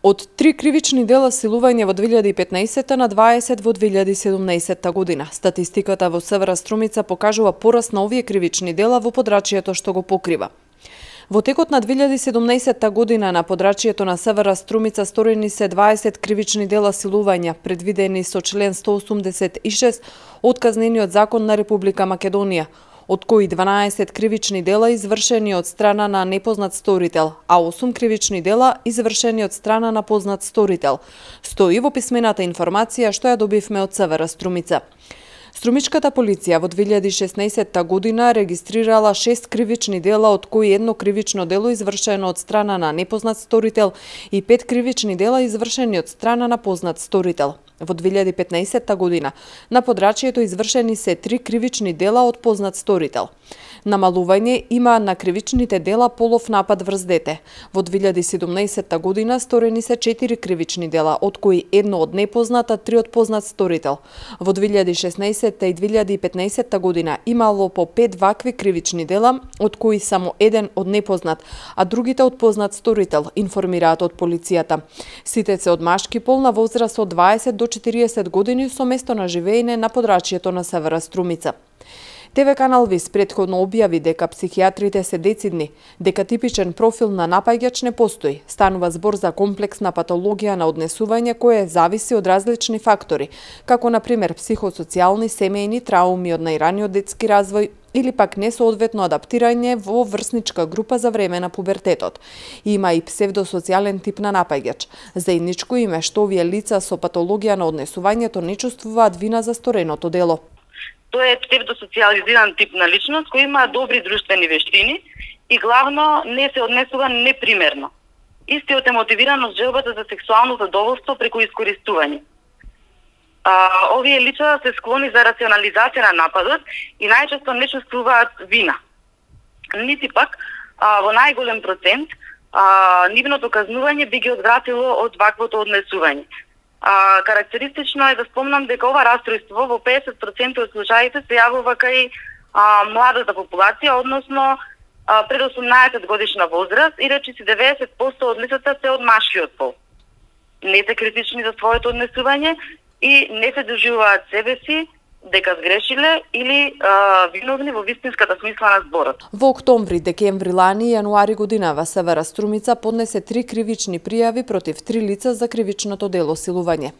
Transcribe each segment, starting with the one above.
Од 3 кривични дела силување во 2015 на 20 во 2017 година. Статистиката во Севера Струмица покажува пораст на овие кривични дела во подрачјето што го покрива. Во текот на 2017 година на подрачјето на Севера Струмица сторени се 20 кривични дела силувања, предвидени со член 186 од Казнениот закон на Република Македонија, од кои 12 кривични дела извршени од страна на непознат сторител, а 8 кривични дела извршени од страна на познат сторител. Стои во писмената информација што ја добивме од Севера Струмица. Струмичката полиција во 2016 година регистрирала 6 кривични дела, од кои едно кривично дело извршено од страна на непознат сторител и 5 кривични дела извршени од страна на познат сторител. Во 2015 година на подрачјето извршени се 3 кривични дела од познат сторител. Намалување има на кривичните дела полов напад врз дете. Во 2017 година сторени се 4 кривични дела, од кои едно од непознат, а 3 од познат сторител. Во 2016 и 2015 година имало по 5 вакви кривични дела, од кои само еден од непознат, а другите од познат сторител, информираат од полицијата. Сите се од машки пол на возраст од 20 до 40 години со место на живеење на подрачјето на Севера Струмица. ТВ канал ВИС претходно објави дека психијатрите се децидни, дека типичен профил на напаѓач не постои. Станува збор за комплексна патологија на однесување кое зависи од различни фактори, како на пример психосоцијални, семејни трауми од најраниот детски развој или пак несоодветно адаптирање во врсничка група за време на пубертетот. Има и псевдосоцијален тип на напаѓач. Заедничко им е што овие лица со патологија на однесувањето не чувствуваат вина за стореното дело. Тоа е псевдосоциализиран тип на личност кој има добри друштвени вештини и главно не се однесува непримерно. Истиот е мотивиран од желбата за сексуално задоволство преку искористување. Овие лица се склони за рационализација на нападот и најчесто не чувствуваат вина. Нити пак во најголем процент нивното казнување би ги одвратило од ваквото однесување. Карактеристично е да спомнам дека ова растројство во 50% од случаите се јавува кај младата популација, односно пред 18 годишна возраст, и речиси 90% од лицата се од машкиот пол. Не се критични за своето однесување и не се доживуваат себе си дека сгрешиле или виновни во вистинската смисла на зборот. Во октомври, декември лани и јануари годинава Севера Струмица поднесе 3 кривични пријави против 3 лица за кривичното дело силување.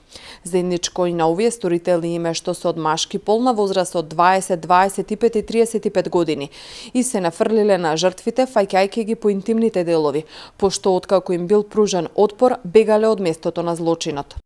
Заедничко и на овие сторители им е што се од машки пол на возраст од 20, 25 и 35 години и се нафрлиле на жртвите фаќајќи ги по интимните делови, пошто откако им бил пружен отпор, бегале од местото на злочинот.